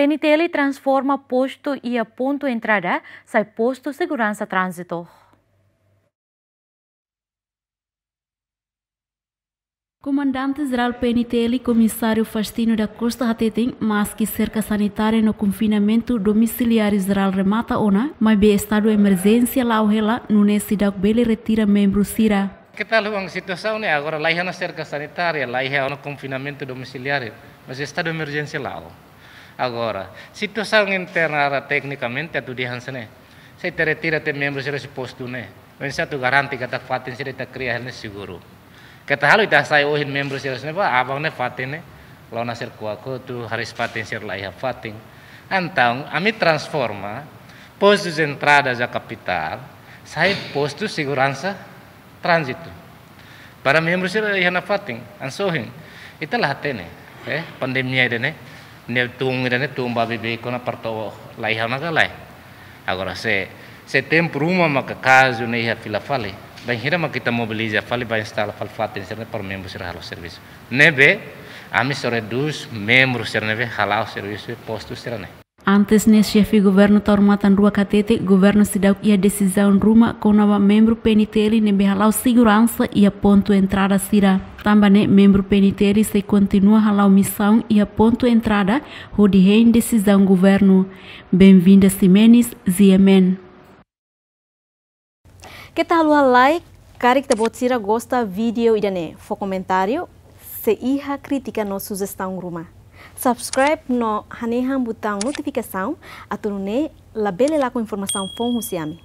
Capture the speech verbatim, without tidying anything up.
N T L transforma postu iha pontu entrada sai postu seguransa tránzitu. Komandante Jerál P N T L, Komisáriu Faustino da Costa hateten, maski serka sanitária no konfinamentu domisiliáriu jerál remata ona, maibé estadu emerjénsia la'o hela, nune'e seidauk bele retira membru sira. Keta haluha situasaun ne'e agora, laiha ona serka sanitária, laiha ona konfinamentu domisiliáriu, mas estadu emerjénsia la'o. Agora, situasaun interna, teknikamente atu dehan hanesan ne'e. Se ita retira tiha membru sira husi postu ne'e, oinsá atu garante katak fatin sira ita kria hela ne'e seguru. Keta halo ita hasai ohin membru sira ne'ebá, aban ne'e fatin ne'e la'o ona sira ko'a kotuk, hariis fatin sira laiha fatin. Entaun, ami transforma postu entrada iha kapitál sai postu seguransa tránzitu. Para membru sira iha nafatin, hanesan ohin, ita la hatene, eh, pandemia ida-ne'e, ne'e tun ida-ne'e, tun ba beibeik ona para to'o laiha ona ka lae. Agora se, se tempu ruma maka kazu ne'e iha fila fali, bainhira maka ita mobiliza fali, ba instala fali fatin sira-ne'e para membru sira halo servisu. Ne'ebé, ami só redús membru sira ne'ebé hala'o servisu iha postu sira-ne'e. Antes ne'e, Xefe Governu Taur Matan Ruak hatete, Governu seidauk iha desizaun ruma kona-ba membru P N T L ne'ebé hala'o seguransa iha pontu entrada sira. Tanba ne'e, membru P N T L sei kontinua hala'o misaun iha pontu entrada hodi hein desizaun governu. Benvinda Ximenes, G M N. Keta haluha like, karik ita-boot sira gosta vídeo ida-ne'e, fó komentáriu, se iha krítika no sujestaun ruma. Subscribe no hanehan butaun notifikasaun, atu nune'e labele lakon informasaun foun husi ami.